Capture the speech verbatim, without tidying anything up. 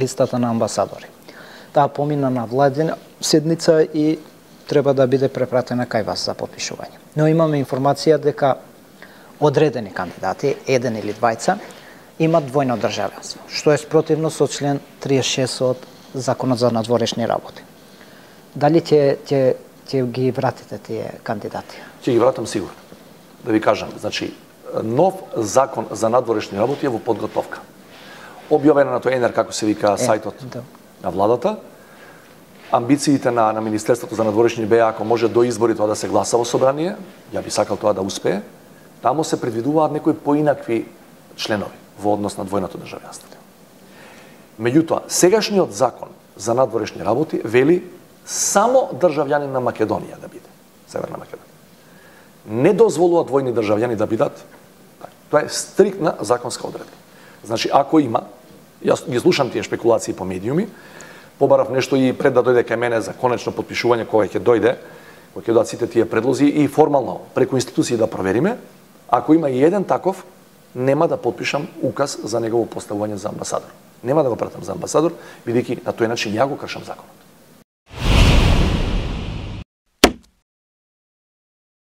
листата на амбасадори. Таа помина на владина седница и треба да биде препратена кај вас за потпишување. Но имаме информација дека одредени кандидати, еден или двајца, имат двојно државјанство, што е спротивно со член триесет и шест од Законот за надворешни работи. Дали ќе ќе ќе ги вратите тие кандидати? Ќе ги вратам сигурно. Да ви кажам, значи нов закон за надворешни работи е во подготовка. Објавена на тој ЕНЕР, како се вика, сајтот е, да. на владата. Амбициите на, на Министерството за надворешни беа, ако може до избори тоа да се гласа во собрание, ја би сакал тоа да успее, таму се предвидуваат некои поинакви членови во однос на двојното државјанство. Меѓутоа, сегашниот закон за надворешни работи вели само државјанин на Македонија да биде, Северна Македонија. Не дозволува двојни државјани да бидат. Тоа е стриктна законска одредба. Значи, ако има, јас ги слушам тие шпекулации по медиуми, побарав нешто и пред да дојде кај мене за конечно потпишување кога ќе дојде, кога ќе дојдат сите тие предлози и формално преку институции да провериме, ако има и еден таков, нема да потпишам указ за негово поставување за амбасадор. Нема да го пратам за амбасадор, бидејќи на тој начин ја го кршам законот.